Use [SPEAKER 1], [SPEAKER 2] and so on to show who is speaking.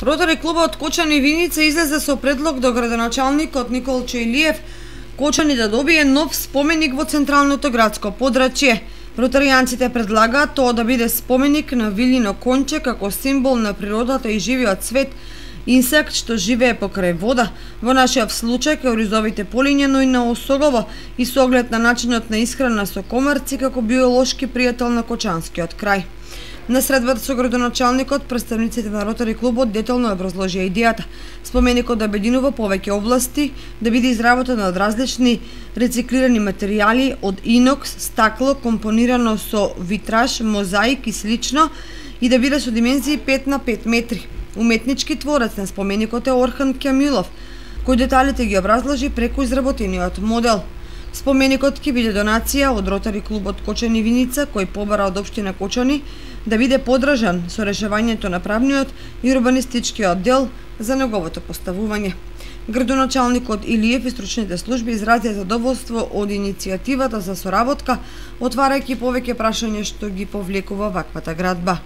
[SPEAKER 1] Ротари клубот Кочани Виница излезе со предлог до градоначалникот Николчо Илиев Кочани да добие нов споменик во централното градско подрачје. Ротаријанците предлагаат тоа да биде споменик на Вилино конче како символ на природата и живиот свет, инсект што живее покрај вода, во нашиот случај кауризовите полиња, но и на осогово и со оглед на начинот на исхрана со комарци како биолошки пријател на Кочанскиот крај. На средбата со градоначалникот, представниците на Ротари клубот детално образложија идејата. Споменикот да обединува повеќе области, да биде изработен од различни рециклирани материјали од инокс, стакло, компонирано со витраж, мозаик и слично, и да биде со димензии 5 на 5 метри. Уметнички творец на споменикот е Орхан Кјамилов, кој деталите ги образложи преку изработениот модел. Споменикот ќе биде донација од Ротари клубот Кочани Виница, кој побара од општина Кочани да биде подржан со решавањето на правниот и урбанистичкиот дел за неговото поставување. Градоначалникот Илиев и стручните служби изразија задоволство од иницијативата за соработка, отварајќи повеќе прашања што ги повлекува ваквата градба.